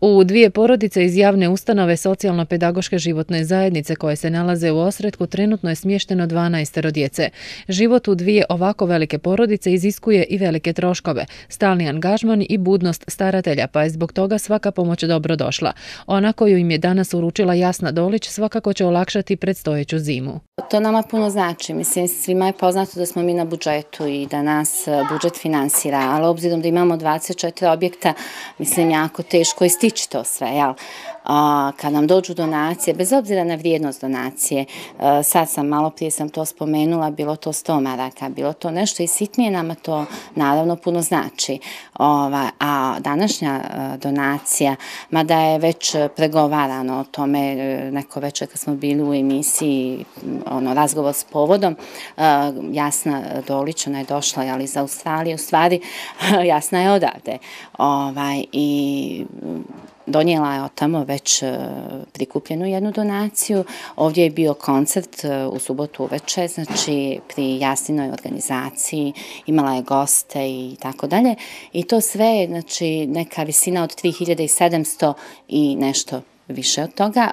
U dvije porodice iz javne ustanove socijalno-pedagoške životne zajednice koje se nalaze u Osretku trenutno je smješteno 12 djece. Život u dvije ovako velike porodice iziskuje i velike troškove, stalni angažman i budnost staratelja, pa je zbog toga svaka pomoć dobro došla. Ona koju im je danas uručila Jasna Dolić svakako će olakšati predstojeću zimu. To nama puno znači. Mislim, svima je poznato da smo mi na budžetu i da nas budžet finansira, ali obzirom da imamo 24 objekta, mislim, jako teško je stići to sve, jel? Kad nam dođu donacije, bez obzira na vrijednost donacije, malo prije sam to spomenula, bilo to 100 maraka, bilo to nešto i sitnije, nama to naravno puno znači. A današnja donacija, mada je već pregovarano o tome, neko večer kad smo bili u emisiji, razgovor s povodom, Jasna Dolić, ona je došla iz Australije, u stvari Jasna je odavde. I donijela je od tamo već prikupljenu jednu donaciju. Ovdje je bio koncert u subotu uveče, znači pri Jasninoj organizaciji, imala je goste i tako dalje. I to sve, znači neka visina od 3700 i nešto više od toga.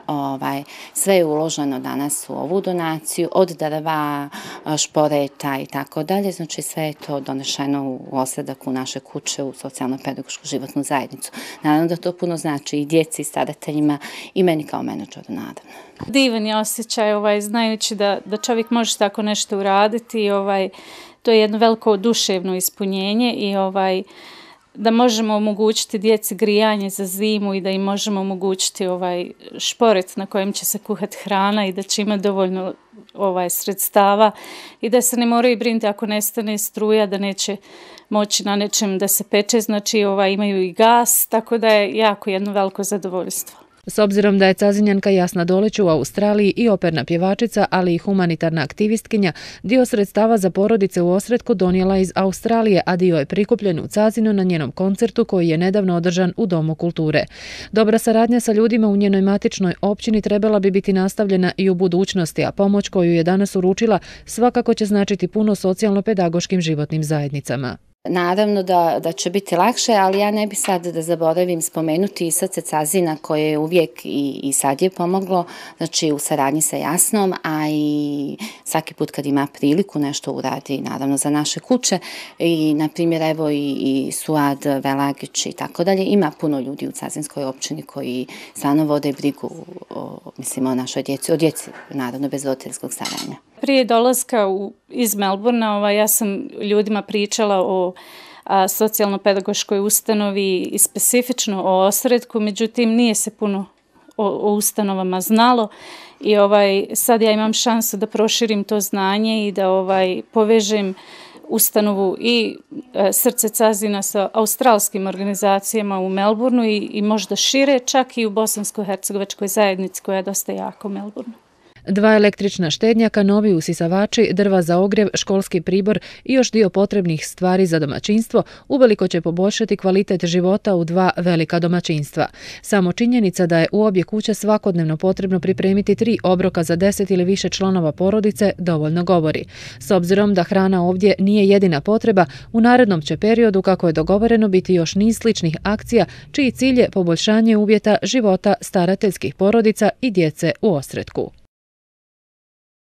Sve je uloženo danas u ovu donaciju, od drva, šporeta i tako dalje. Znači sve je to donešeno u Osredak, u naše kuće, u socijalno-pedagošku životnu zajednicu. Naravno da to puno znači i djeci, i starateljima, i meni kao menadžeru, naravno. Divan je osjećaj, znajući da čovjek može tako nešto uraditi. To je jedno veliko duševno ispunjenje i da možemo omogućiti djeci grijanje za zimu i da im možemo omogućiti šporet na kojem će se kuhati hrana i da će imati dovoljno sredstava i da se ne moraju brinuti ako nestane struja, da neće moći na nečem da se peče, znači imaju i gas, tako da je jako jedno veliko zadovoljstvo. S obzirom da je Cazinjanka Jasna Dolić u Australiji i operna pjevačica, ali i humanitarna aktivistkinja, dio sredstava za porodice u Osretku donijela iz Australije, a dio je prikupljen u Cazinu na njenom koncertu koji je nedavno održan u Domu kulture. Dobra saradnja sa ljudima u njenoj matičnoj općini trebala bi biti nastavljena i u budućnosti, a pomoć koju je danas uručila svakako će značiti puno socijalno-pedagoškim životnim zajednicama. Naravno da će biti lakše, ali ja ne bi sad da zaboravim spomenuti i Srce Cazina koje je uvijek i sad je pomoglo, znači u saradnji sa Jasnom, a i svaki put kad ima priliku nešto uradi, naravno za naše kuće i na primjer evo i Suad Velagić i tako dalje, ima puno ljudi u Cazinskoj općini koji stvarno vode brigu o našoj djeci, o djeci naravno bez roditeljskog staranja. Prije dolaska iz Melbourna ja sam ljudima pričala o socijalno-pedagoškoj ustanovi i specifično o Osretku, međutim nije se puno o ustanovama znalo i sad ja imam šansu da proširim to znanje i da povežem ustanovu i Srce Cazina sa australskim organizacijama u Melbourneu i možda šire, čak i u bosansko-hercegovačkoj zajednici koja je dosta jaka u Melbourneu. 2 električna štednjaka, novi usisavači, drva za ogrjev, školski pribor i još dio potrebnih stvari za domaćinstvo uveliko će poboljšati kvalitet života u 2 velika domaćinstva. Samo činjenica da je u obje kuće svakodnevno potrebno pripremiti 3 obroka za 10 ili više članova porodice dovoljno govori. S obzirom da hrana ovdje nije jedina potreba, u narednom će periodu, kako je dogovoreno, biti još niz sličnih akcija čiji cilj je poboljšanje uvjeta života starateljskih porodica i djece u Osretku.